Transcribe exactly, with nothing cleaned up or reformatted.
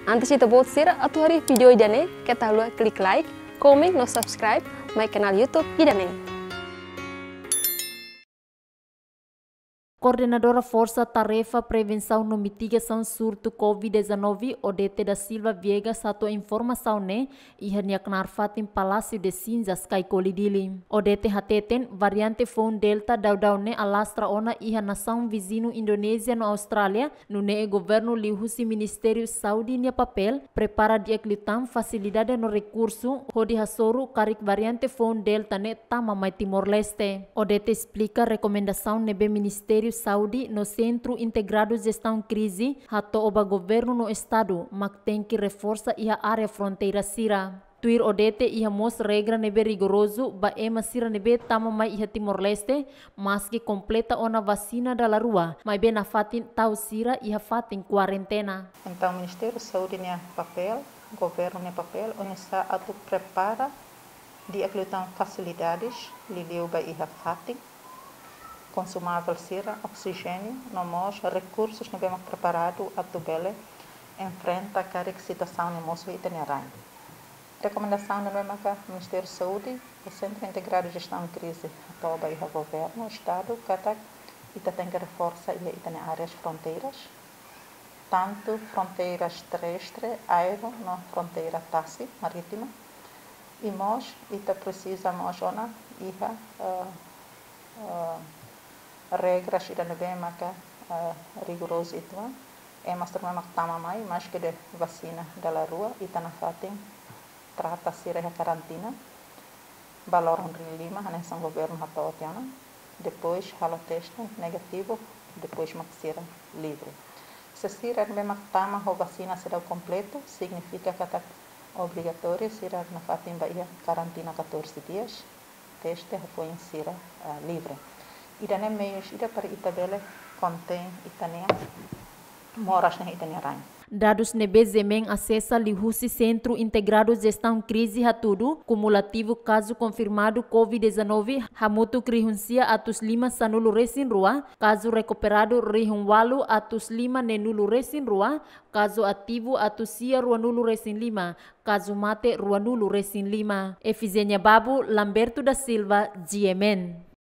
Antes ita-boot sira atu haree vídeo ida-ne'e, keta haluha klik like, komen no subscribe mai kanál YouTube ida-ne'e. Koordenadora Forsa Tarefa Prevensaun no Mitigasaun Surtu COVID dezanove, Odete da Silva Viegas, hato'o informasaun ne'e iha nia knaar fatin Palácio de Cinzas, Caicoli, Dili. Odete hateten, variante foun Delta daudaun ne'e alastra ona iha nasaun viziñu Indonézia no Austrália, nune'e governu liuhusi Ministériu Saúde nia papél prepara di'ak liután fasilidade no rekursu hodi hasoru karik variante foun Delta ne'e tama mai Timor-Leste. Odete esplika rekomendasaun ne'ebé Ministériu Saúde no Sentru Integradu Jestaun Krize hato'o ba governu no estadu mak tenke reforsa iha área fronteira sira. Tuir Odete, iha mós regra ne'ebé rigorozu ba ema sira ne'ebé tama mai iha Timor-Leste, maski kompleta ona vasina dala rua, maibé nafatin tau sira iha fatin kuarentena. Entaun, Ministériu Saúde nia papél, governu nia papél, oinsá atu prepara di'ak liután fasilidades, liuliu ba iha fatin konsumavel sira, oksijéniu, no mós rekursus ne'ebé mak preparadu atu bele enfrenta karik situasaun ne'e mosu iha ita-nia rain. Rekomendasaun ne'ebé maka Ministériu Saúde, Sentru Integradu Jestaun Krize, hato'o ba iha governu, estadu, katak ita tenke reforsa iha ita-nia áreas fronteiras, tantu fronteiras terrestre, aéreu, no fronteira tasi, marítima. I mós, ita presiza mós ona iha, eh, eh, regras ida ne'ebé maka, eh, rigorozu uitoan. Ema sira ne'ebé mak tama mai, maski de'it vasina dala rua, ita nafatin trata sira iha karantina ba loron lima, hanesan governu hato'o tiha ona. Depois halo teste negativu, depois mak sira livre. Se sira ne'ebé mak tama ho vasina seidauk kompletu, signifika katak obrigatóriu sira nafatin ba iha karantina catorze dias, teste hafoin sira, ah, livre. Ida-ne'e meius ida para ita bele kontein ita-nia moras ne'e iha ita-nia rain. Dadus ne'ebé GMN asesa liuhusi Sentru Integradu Jestaun Krize hatudu, kumulativu kazu konfirmadu COVID dezanove hamutuk rihun sia atus lima sanulu resin rua, kazu rekuperadu rihun ualu atus lima neenulu resin rua, kazu ativu atus sia ruanulu resin lima, kazu mate ruanulu resin lima. Efizénia Babu, Lamberto da Silva, GMN.